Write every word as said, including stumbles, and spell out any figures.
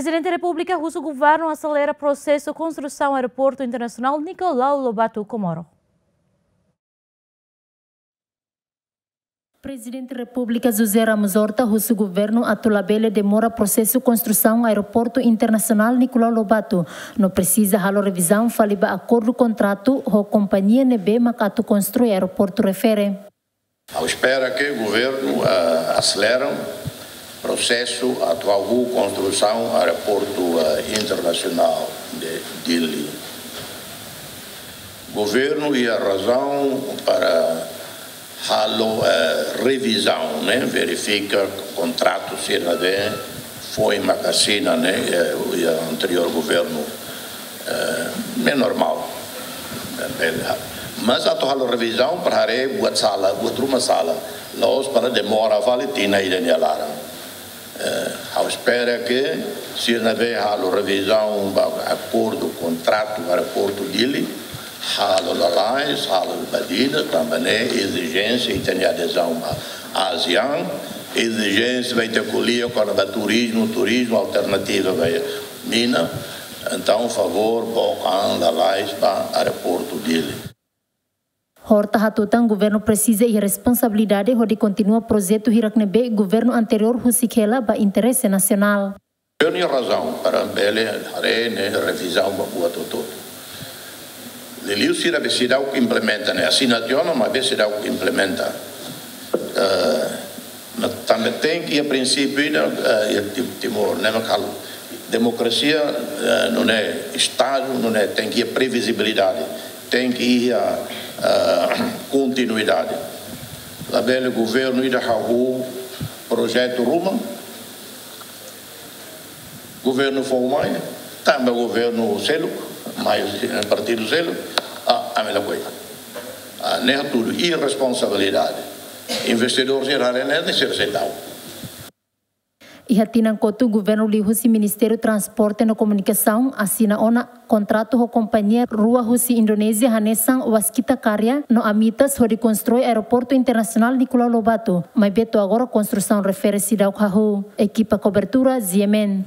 Prezidente Repúblika husu governu aselera prosesu konstrusaun Aeroportu Internasionál Nicolau Lobato Comoro. Prezidente Repúblika José Ramos Horta husu governu atu labele demora prosesu konstrusaun Aeroportu Internasionál Nicolau Lobato, no presiza halo revizaun fali ba akordu kontratu ho kompañia ne'ebé mak atu konstrui aeroportu refere. Ha'u espera ke governu, eh, aselera prosesu atu hahú konstrusaun aeroportu, eh, internasionál de Dili. Governu iha razaun para halo, eh, revizaun, ne'e, verifika kontratu sira ne'ebé foin mak asina, ne'e, eh, iha anteriór governu, eh, ne'e normál. Mas atu halo revizaun para haree buat sala, buat ruma sala. La'ós para demora fali tinan ida nia laran. Eh, ha'u espera ke sira ne'ebé halo revizaun ba akordu kontratu aeroportu Dili, halo lalais, halo badida, tanba ne'e ezijénsia ita-nia adezaun ba ASEAN, ezijénsia ba ita ko'alia kona-ba turizmu, turizmu alternativa ba mina. Entaun, favór, book an lalais ba aeroportu Dili. Horta hatutan governu presiza iha responsabilidade hodi kontinua projetu hirak ne'ebé governu anteriór husik hela ba interese nasionál. Governu iha razaun para bele haree ne'e revizaun ba buat hotu-hotu. Liuliu sira ne'ebé seidauk implementa ne'e, asina tiha ona, maibé seidauk implementa. Eh, mas tanba tenke iha prinsípiu ida, eh, iha Ti-, Timor, ne'e mak halo. Demokrasia, eh, nune'e Estadu, nune'e tenke iha previzibilidade, tenke iha, eh, kontinuidade. Labele governu ida hahú projetu ruma, governu foun mai, tanba governu seluk, mai partidu seluk, ah, ami lakohi. Ah, ne'e tudu irresponsabilidade. Investidór sira haree ne'e, sira seidauk. Iha tinan kotuk governu liuhusi Ministériu Transporte no Komunikasaun asina ona kontratu ho kompañia rua husi Indonézia hanesan Waskita Karya no Amitas hodi konstrui Aeroportu Internasionál Nicolau Lobato, maibé to'o agora konstrusaun refere seidauk hahú. Ekipa kobertura, G M N.